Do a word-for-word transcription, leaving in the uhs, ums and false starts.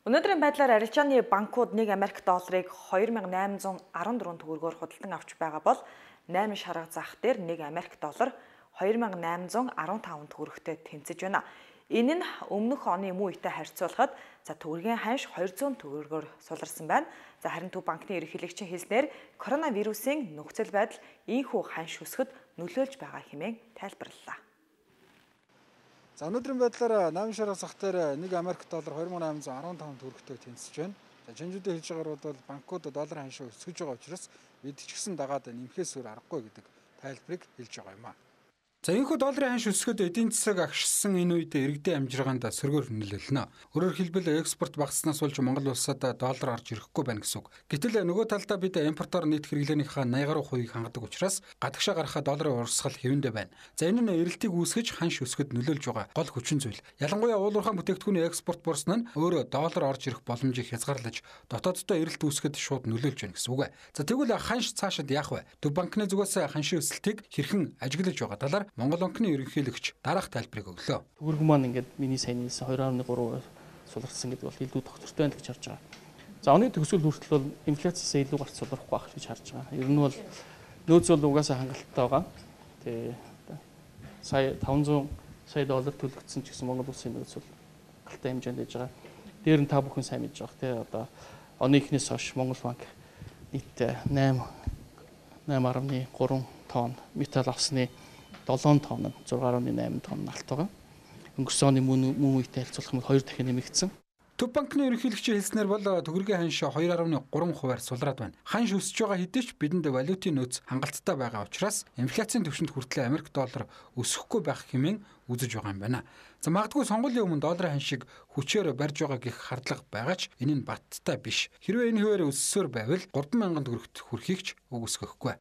Өнөөдрийн байдлаар арилжааны банкуд нэг Америк долларыг хоёр мянган найман зуун арван дөрвөн төгрөгөөр худалдан авч байгаа бол найман шарга зах дээр нэг Америк доллар хоёр мянган найман зуун арван таван төгрөгтэй тэнцэж байна. Энэ нь өмнөх оны мөн үетэй харьцуулахад за төгрөгийн ханш хоёр зуун төгрөгөөр суларсан байна. За харин Төв банкны ерөнхийлөгчийн хэлснээр коронавирусын нөхцөл байдал ийхүү ханш өсгөд нөлөөлж байгаа хэмээн тайлбарллаа. За өнөөдрийн байдлаар найман шарга зах дээр нэг Америк доллар хоёр мянган найман зуун арван таван төгрөгтэй тэнцэж байна. За чинжүүдийн хэлж байгаагаар бол банкуд долларын ханшаа өсгөж байгаа учраас бид ч гэсэн дагаад нэмэхээс өөр аргагүй гэдэг тайлбарыг хэлж байгаа юм а. За энэхүү долларын ханш өсгөд эдийн засаг агшсан энэ үед иргэдийн амжиргаанд сөргөөр нөлөөлнө. Өөрөөр хэлбэл экспорт багасснаас болж Монгол улсад доллар орж ирэхгүй байна гэсэн үг. Гэтэл нөгөө талдаа бид импортоор нийт хэрэглээнийхээ найман гаруй хувийг хангадаг учраас гадагшаа гарахад долларын урсгал хэвэндэ байна. За энэ нь эрэлтийг үүсгэж ханш өсгөд нөлөөлж байгаа гол хүчин зүйл. Ялангуяа уулуурхай бүтээгдэхүүний экспорт буурсан нь өөрөө доллар орж ирэх боломжийг хязгаарлаж дотооддоо эрэлт үүсгэд шууд нөлөөлж байна гэсэн үг. За тэгвэл ханш цаашид яах вэ? Төв банкны зүгээс ханшийн өсөлтийг хэрхэн ажиглаж байгаа талаар Монгол банкны ерөнхийлөгч дараах тайлбарыг өглөө. Төгрөг маань ингээд миний саяны хоёр нуран гурав суларсан гэдэг бол илүү тогтвортой байна гэж харж байгаа. За оны төгсгөл хүртэл бол инфляцаас илүү гарч сулрахгүй байх гэж харж байгаа. Ер нь бол нөөц бол угаасаа хангалттай байгаа. Тэгээ сая таван зуун сая доллар төлөгдсөн ч гэсэн Монгол улсын нөөц бол хангалттай хэмжээнд байж байгаа. Дээр нь та бүхэн сайн мэдж байгаа. Тэгээ одоо оны эхнээс хойш Монгол банк нийтдээ найман найман гурван тонн металл авсны долоон тонн зураг гаруй найман тонн алт байгаа. Өнгөрсөн оны мөн үетэй харьцуулах юм бол хоёр дахин нэмэгдсэн. Төв банкны ерөнхийлөгчийн хэлснээр бол төгрөгийн ханш хоёр дашмал гурван хувиар сулраад байна. Ханш өсөж байгаа хэдий ч бидэнд валютын нөөц хангалттай байгаа учраас инфляцийн түвшинд хүртэл Америк доллар өсөхгүй байх хэмээн үзэж байгаа юм байна. За магадгүй сонгуулийн өмнө долларын ханшийг хүчээр барьж байгаа гэх хардлага байгаа ч энэ нь баттай биш. Хэрвээ энэ хувиар өссөөр байвал гурван мянган төгрөгт хүрэхийг ч үгүйсгэхгүй.